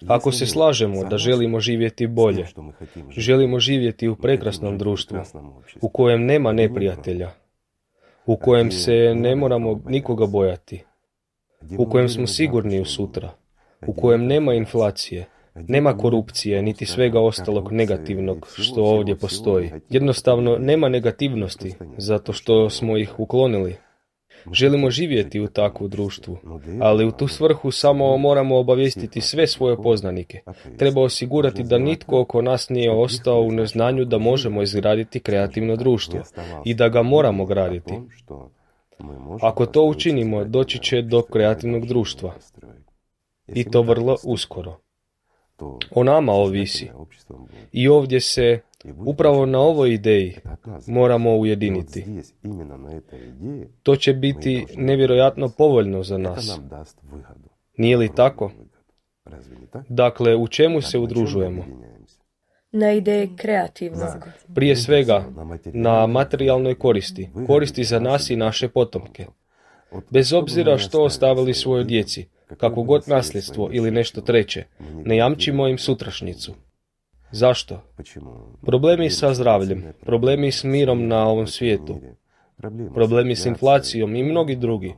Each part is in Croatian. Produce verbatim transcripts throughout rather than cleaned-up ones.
Ako se slažemo da želimo živjeti bolje, želimo živjeti u prekrasnom društvu, u kojem nema neprijatelja, u kojem se ne moramo nikoga bojati, u kojem smo sigurni u sutra, u kojem nema inflacije, nema korupcije, niti svega ostalog negativnog što ovdje postoji. Jednostavno, nema negativnosti, zato što smo ih uklonili. Želimo živjeti u takvu društvu, ali u tu svrhu samo moramo obavijestiti sve svoje poznanike. Treba osigurati da nitko oko nas nije ostao u neznanju da možemo izgraditi kreativno društvo i da ga moramo graditi. Ako to učinimo, doći će do kreativnog društva. I to vrlo uskoro. O nama ovisi. I ovdje se, upravo na ovoj ideji, moramo ujediniti. To će biti nevjerojatno povoljno za nas. Nije li tako? Dakle, u čemu se udružujemo? Na ideji kreativnog. Prije svega, na materijalnoj koristi. Koristi za nas i naše potomke. Bez obzira što ostavili svojoj djeci, kako god nasljedstvo ili nešto treće, ne jamčimo im sutrašnjicu. Zašto? Problemi sa zdravljem, problemi s mirom na ovom svijetu, problemi s inflacijom i mnogi drugi.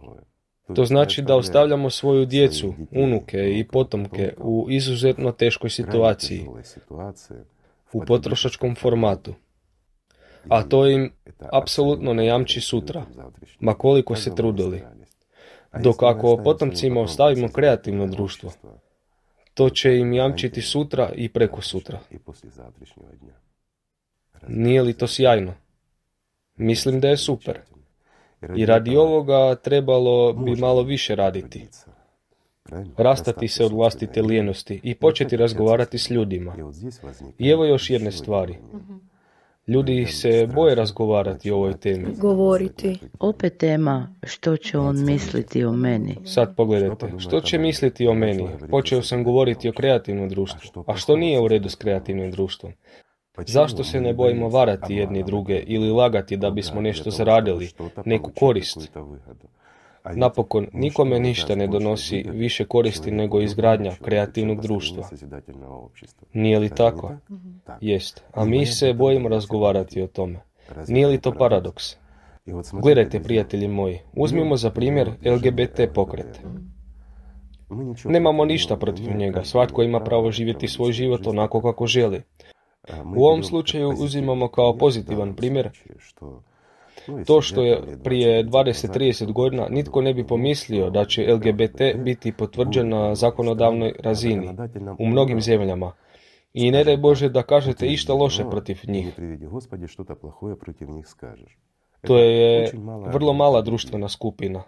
To znači da ostavljamo svoju djecu, unuke i potomke u izuzetno teškoj situaciji, u potrošačkom formatu. A to im apsolutno ne jamči sutra, ma koliko se trudili. Dok ako potomcima ostavimo kreativno društvo, to će im jamčiti sutra i preko sutra. Nije li to sjajno? Mislim da je super. I radi ovoga trebalo bi malo više raditi. Rastati se od vlastite lijenosti i početi razgovarati s ljudima. I evo još jedne stvari. Ljudi se boje razgovarati o ovoj temi. Govoriti. Opet tema što će on misliti o meni. Sad pogledajte, što će misliti o meni? Počeo sam govoriti o kreativnom društvu. A što nije u redu s kreativnim društvom? Zašto se ne bojimo varati jedni druge ili lagati da bismo nešto zaradili, neku korist? Napokon, nikome ništa ne donosi više koristi nego izgradnja kreativnog društva. Nije li tako? Jest. A mi se bojimo razgovarati o tome. Nije li to paradoks? Gledajte, prijatelji moji, uzmimo za primjer L G B T pokret. Nemamo ništa protiv njega, svatko ima pravo živjeti svoj život onako kako želi. U ovom slučaju uzimamo kao pozitivan primjer to što je prije dvadeset do trideset godina nitko ne bi pomislio da će L G B T biti potvrđen na zakonodavnoj razini u mnogim zemljama. I ne daj Bože da kažete išta loše protiv njih. To je vrlo mala društvena skupina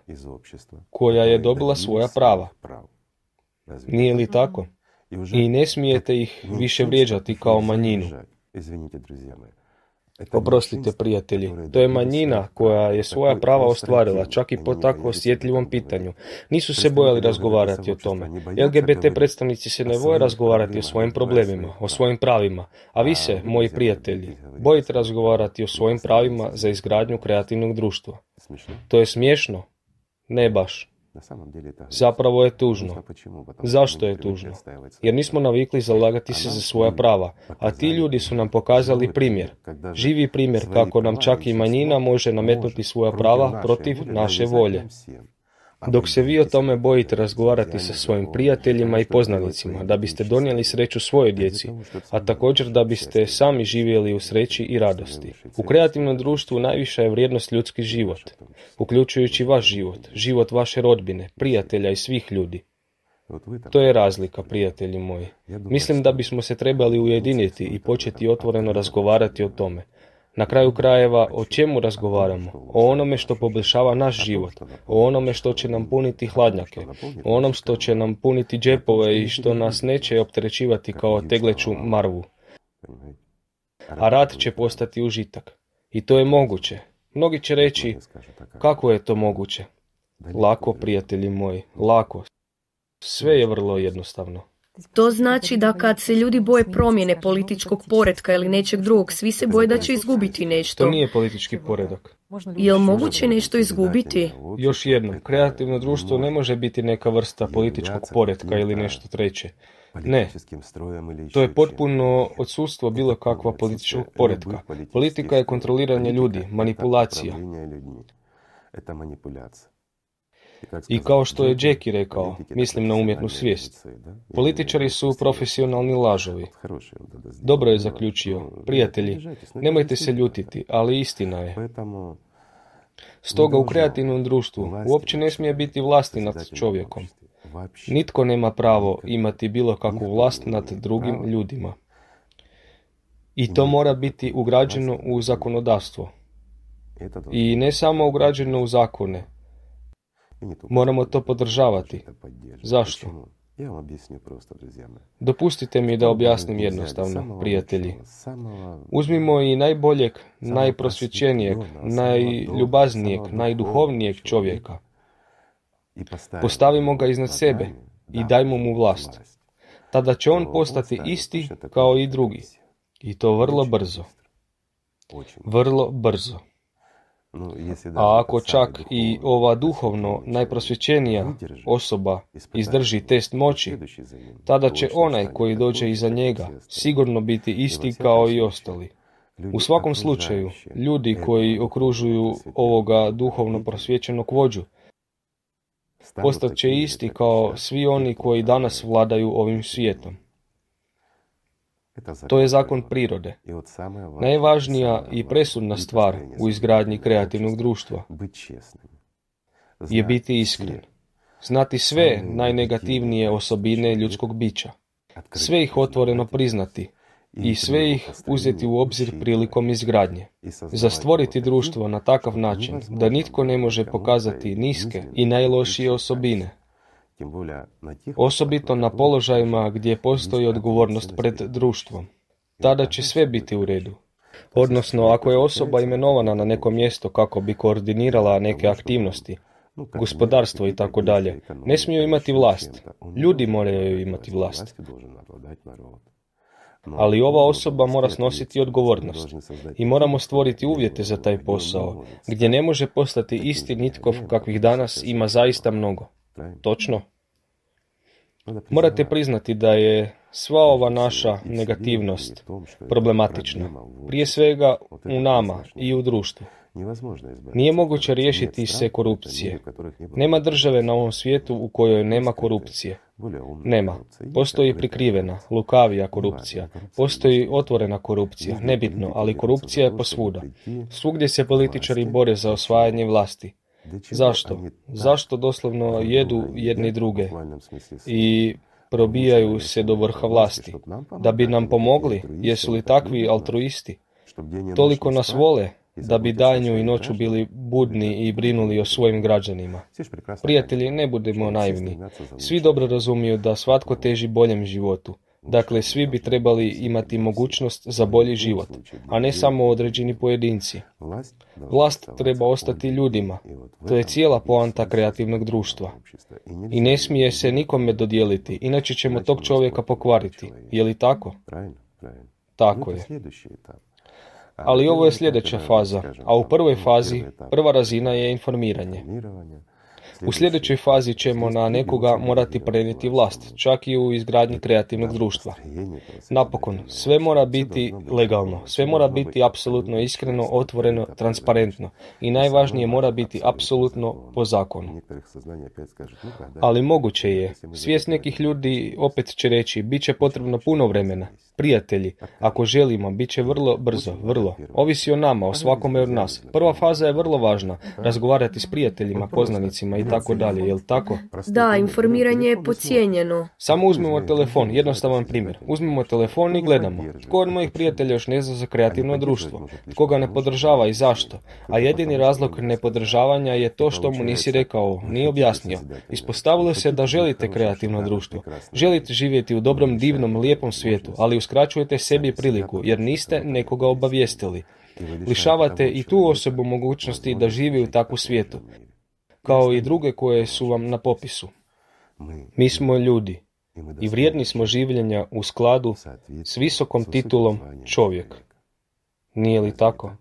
koja je dobila svoja prava. Nije li tako? I ne smijete ih više vrijeđati kao manjinu. Oprostite, prijatelji, to je manjina koja je svoja prava ostvarila, čak i po tako osjetljivom pitanju. Nisu se bojali razgovarati o tome. L G B T predstavnici se ne boje razgovarati o svojim problemima, o svojim pravima. A vi se, moji prijatelji, bojite razgovarati o svojim pravima za izgradnju kreativnog društva. To je smiješno? Ne baš. Zapravo je tužno. Zašto je tužno? Jer nismo navikli zalagati se za svoja prava, a ti ljudi su nam pokazali primjer. Živi primjer kako nam čak i manjina može nametnuti svoja prava protiv naše volje. Dok se vi o tome bojite razgovarati sa svojim prijateljima i poznanicima, da biste donijeli sreću svojoj djeci, a također da biste sami živjeli u sreći i radosti. U kreativnom društvu najviša je vrijednost ljudski život, uključujući vaš život, život vaše rodbine, prijatelja i svih ljudi. To je razlika, prijatelji moji. Mislim da bismo se trebali ujediniti i početi otvoreno razgovarati o tome. Na kraju krajeva, o čemu razgovaramo? O onome što poboljšava naš život, o onome što će nam puniti hladnjake, o onom što će nam puniti džepove i što nas neće opterećivati kao tegleću marvu. A rad će postati užitak. I to je moguće. Mnogi će reći, kako je to moguće? Lako, prijatelji moji, lako. Sve je vrlo jednostavno. To znači da kad se ljudi boje promjene političkog poretka ili nečeg drugog, svi se boje da će izgubiti nešto. To nije politički poredak. Je li moguće nešto izgubiti? Još jednom, kreativno društvo ne može biti neka vrsta političkog poretka ili nešto treće. Ne, to je potpuno odsustvo bilo kakva političkog poretka. Politika je kontroliranje ljudi, manipulacija. I kao što je Jackie rekao, mislim na umjetnu svijest. Političari su profesionalni lažovi. Dobro je zaključio. Prijatelji, nemojte se ljutiti, ali istina je. Stoga u kreativnom društvu uopće ne smije biti vlasti nad čovjekom. Nitko nema pravo imati bilo kakvu vlast nad drugim ljudima. I to mora biti ugrađeno u zakonodavstvo. I ne samo ugrađeno u zakone. Moramo to podržavati. Zašto? Dopustite mi da objasnim jednostavno, prijatelji. Uzmimo i najboljeg, najprosvjećenijeg, najljubaznijeg, najduhovnijeg čovjeka. Postavimo ga iznad sebe i dajmo mu vlast. Tada će on postati isti kao i drugi. I to vrlo brzo. Vrlo brzo. A ako čak i ova duhovno najprosvjećenija osoba izdrži test moći, tada će onaj koji dođe iza njega sigurno biti isti kao i ostali. U svakom slučaju, ljudi koji okružuju ovoga duhovno prosvjećenog vođu postat će isti kao svi oni koji danas vladaju ovim svijetom. To je zakon prirode. Najvažnija i presudna stvar u izgradnji kreativnog društva je biti iskren. Znati sve najnegativnije osobine ljudskog bića. Sve ih otvoreno priznati i sve ih uzeti u obzir prilikom izgradnje. Za stvoriti društvo na takav način da nitko ne može pokazati niske i najlošije osobine. Osobito na položajima gdje postoji odgovornost pred društvom. Tada će sve biti u redu. Odnosno, ako je osoba imenovana na neko mjesto kako bi koordinirala neke aktivnosti, gospodarstvo i tako dalje, ne smiju imati vlast. Ljudi moraju imati vlast. Ali ova osoba mora snositi odgovornost i moramo stvoriti uvjete za taj posao, gdje ne može postati isti nitko kakvih danas ima zaista mnogo. Točno? Morate priznati da je sva ova naša negativnost problematična, prije svega u nama i u društvu. Nije moguće riješiti se korupcije. Nema države na ovom svijetu u kojoj nema korupcije. Nema. Postoji prikrivena, lukavija korupcija. Postoji otvorena korupcija, nebitno, ali korupcija je posvuda. Svugdje se političari bore za osvajanje vlasti. Zašto? Zašto doslovno jedu jedni druge i probijaju se do vrha vlasti? Da bi nam pomogli? Jesu li takvi altruisti? Toliko nas vole da bi danju i noću bili budni i brinuli o svojim građanima. Prijatelji, ne budemo naivni. Svi dobro razumiju da svatko teži boljem životu. Dakle, svi bi trebali imati mogućnost za bolji život, a ne samo određeni pojedinci. Vlast treba ostati ljudima. To je cijela poanta kreativnog društva. I ne smije se nikome dodijeliti, inače ćemo tog čovjeka pokvariti. Je li tako? Tako je. Ali ovo je sljedeća faza, a u prvoj fazi, prva razina je informiranje. U sljedećoj fazi ćemo na nekoga morati prenijeti vlast, čak i u izgradnji kreativnog društva. Napokon, sve mora biti legalno, sve mora biti apsolutno iskreno, otvoreno, transparentno i najvažnije mora biti apsolutno po zakonu. Ali moguće je, svijest nekih ljudi opet će reći, bit će potrebno puno vremena. Prijatelji, ako želimo, bit će vrlo brzo, vrlo. Ovisi o nama, o svakome od nas. Prva faza je vrlo važna, razgovarati s prijateljima, poznanicima i tako dalje, jel tako? Da, informiranje je podcijenjeno. Samo uzmimo telefon, jednostavan primjer. Uzmimo telefon i gledamo. Tko od mojih prijatelja još ne zna za kreativno društvo? Tko ga ne podržava i zašto? A jedini razlog nepodržavanja je to što mu nisi rekao, nije objasnio. Ispostavilo se da želite kreativno društvo. Želite živjeti u dobrom, divnom, lijepom svijetu, ali uskraćujete sebi priliku jer niste nekoga obavijestili. Lišavate i tu osobu mogućnosti da živi u takvu svijetu, kao i druge koje su vam na popisu. Mi smo ljudi i vrijedni smo življenja u skladu s visokom titulom čovjek. Nije li tako?